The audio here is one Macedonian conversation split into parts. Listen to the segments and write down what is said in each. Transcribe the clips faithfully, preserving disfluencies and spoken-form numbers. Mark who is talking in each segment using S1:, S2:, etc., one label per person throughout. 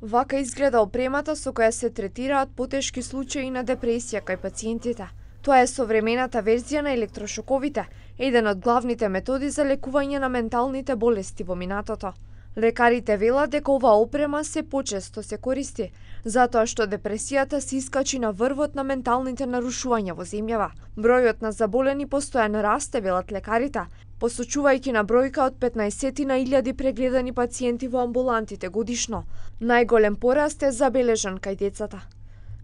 S1: Вака изгледа опремата со која се третираат потешки случаи на депресија кај пациентите. Тоа е современата верзија на електрошоковите, еден од главните методи за лекување на менталните болести во минатото. Лекарите велат дека оваа опрема се почесто се користи, затоа што депресијата се искачи на врвот на менталните нарушувања во земјава. Бројот на заболени постојано расте, велат лекарите, посочувајќи на бројка од петнаесет на илјади прегледани пациенти во амбулантите годишно. Најголем пораст е забележан кај децата.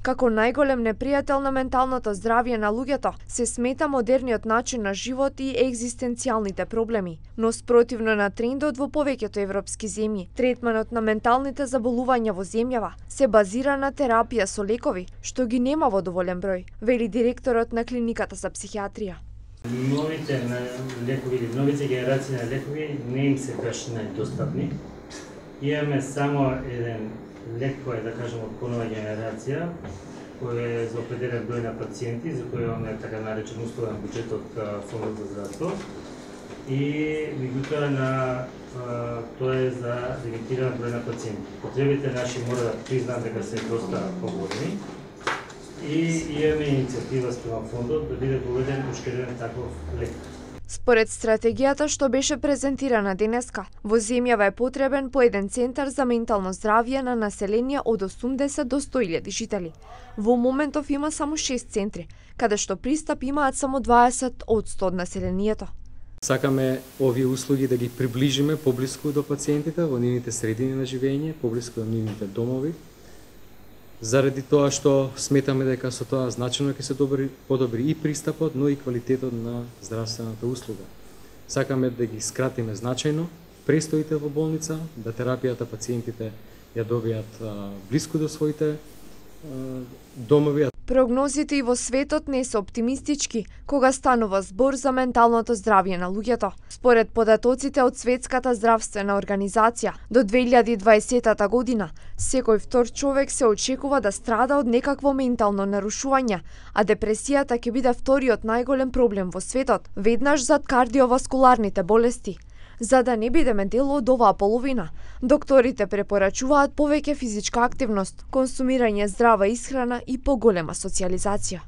S1: Како најголем непријател на менталното здравје на луѓето се смета модерниот начин на живот и екзистенцијалните проблеми, но спротивно на трендот во повеќето европски земји, третманот на менталните заболувања во земјава се базира на терапија со лекови, што ги нема во доволен број, вели директорот на клиниката за психијатрија.
S2: Новите лекови или новите генерации на лекови не им се баш најдостапни. Имаме само еден лек кој е, да кажем, од понова генерација, кој е за определен број на пациенти, за кој имаме така наречен условен буџет од Фондот за здравство. И меѓутоа на тоа е за лимитиран број на пациенти. Потребите наши мора да признаат дека се доста поголеми. И имаме иницијатива спрема фондот да биде поведен уште еден таков лек.
S1: Според стратегијата што беше презентирана денеска, во земјава е потребен по еден центар за ментално здравје на население од осумдесет до сто илјади жители. Во моментов има само шест центри, каде што пристап имаат само дваесет одсто од населението.
S3: Сакаме овие услуги да ги приближиме поблиску до пациентите во нивните средини на живење, поблиску до нивните домови, заради тоа што сметаме дека со тоа значено ќе се добри, подобри и пристапот, но и квалитетот на здравствената услуга. Сакаме да ги скратиме значајно престоите во болница, да терапијата пациентите ја добијат а, блиску до своите а, домови.
S1: Прогнозите и во светот не се оптимистички кога станува збор за менталното здравје на луѓето. Според податоците од Светската здравствена организација, до две илјади и дваесета година секој втор човек се очекува да страда од некакво ментално нарушување, а депресијата ќе биде вториот најголем проблем во светот, веднаш зад кардиоваскуларните болести. За да не бидеме дел од оваа половина, докторите препорачуваат повеќе физичка активност, консумирање здрава исхрана и поголема социјализација.